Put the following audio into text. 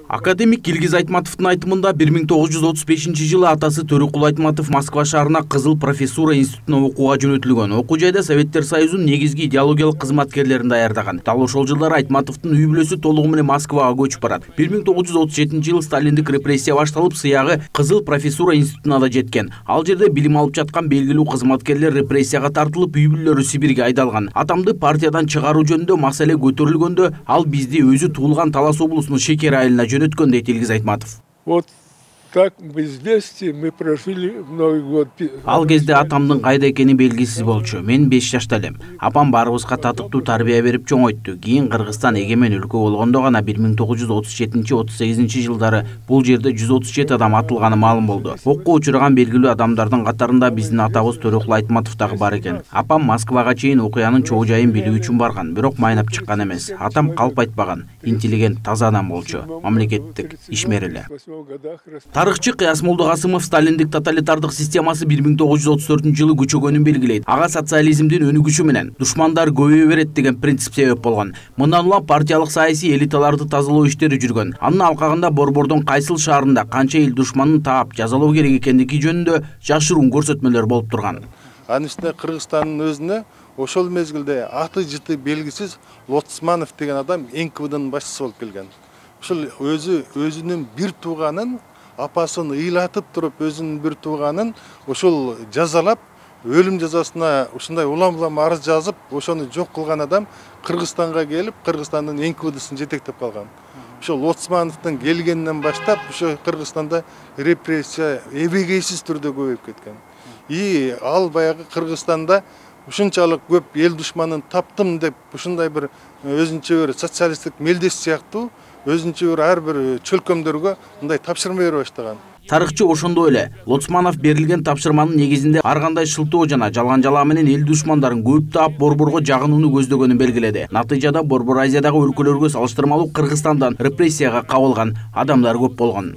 Академик Илгиз Айтматовдун айтымында 1935-жылы атасы Төрөкул Айтматов Москва шаарына Кызыл профессура институтуна окууга жөнөтүлгөн. Окуу жайда Советтер Союзунун негизги идеологиялык кызматкерлерин даярдаган. Дал ошол жылдары Айтматовдун үй бүлөсү толугу менен Москвага көчүп барат. 1937-жылы сталиндик репрессия башталып, сыягы Кызыл профессура институтуна да жеткен. Ал жерде билим алып жаткан белгилүү кызматкерлер репрессияга тартылып, үй бүлөлөрү Сибирге айдалган. Атамды партиядан чыгаруу жөнүндө маселе көтөрүлгөндө, ал бизди өзү туулган Талас облусунун Шекер айылына жөнөткөн дейт Илгиз Айтматов. Вот так в известии мы прожили Новый год. Ал кезде атамдын кайда экени белгисиз болчу. Мен 5 жашта элем. Апам баарыбызга татыктуу тарбия берип чоңойту. Кийин Кыргызстан эгемен өлкө болгондо гана 1937-38 жылдары бул жерде 137 адам атылганы маалым болду. Окко учураган белгилүү адамдардын катарында биздин атабыз Төрөкул Айтматов дагы бар экен. Апам Москвага чейин окуянын чоо жайын билүү үчүн барган, бирок майнап чыккан эмес. Атам калп айтпаган, интеллигент, таза адам болчу. Мамлекеттик ишмер эле. Тарыхчы Кыяс Молдокасымов сталиндик тоталитардык системасы 1934-жылы күчөгөнүн белгилейт. Ага социализмдин өнүгүшү менен душмандар көбөйө берет деген принцип себеп болгон. Мындан улам партиялык саясий элиталарды тазалоо иштери жүргөн. Анын алкагында Борбордун кайсыл шаарында канча эл душманын таап жазалоо керек экендиги жөнүндө жашыруун көрсөтмөлөр болуп турган. Анын үстүнө Кыргызстандын өзүнө ошол мезгилде аты жыты белгисиз Лоцманов деген адам НКВДнын башчысы болуп келген. Ошол өзүнүн бир тууганын апасын ыйлатып туруп, өзүнүн бир тууганын ошол жазалап, өлүм жазасына ушундай улам арыз жазып, ошону жок кылган адам Кыргызстанга келип, Кыргызстандын НКВДсын жетектеп калган. Ошол Лоцмановдун келгенинен баштап, ошо Кыргызстанда репрессия эбегейсиз түрдө көбөйүп кеткен. Ал баягы Кыргызстанда ушунчалык көп эл душманын таптым деп, ушундай бир өзүнчө бир социалисттик мелдеш сыяктуу өзүнчө бир ар бир чөлкөмдөргө мындай тапшырма бере баштаган. Тарыхчы ошондой эле Лоцманов берилген тапшырманын негизинде ар кандай шылтоо жана жалган жалаа менен эл душмандарын көп таап Борборго жагынууну көздөгөнүн белгиледи. Натыйжада Борбор Азиядагы өлкөлөргө салыштырмалуу Кыргызстандан репрессияга кабылган адамдар көп болгон.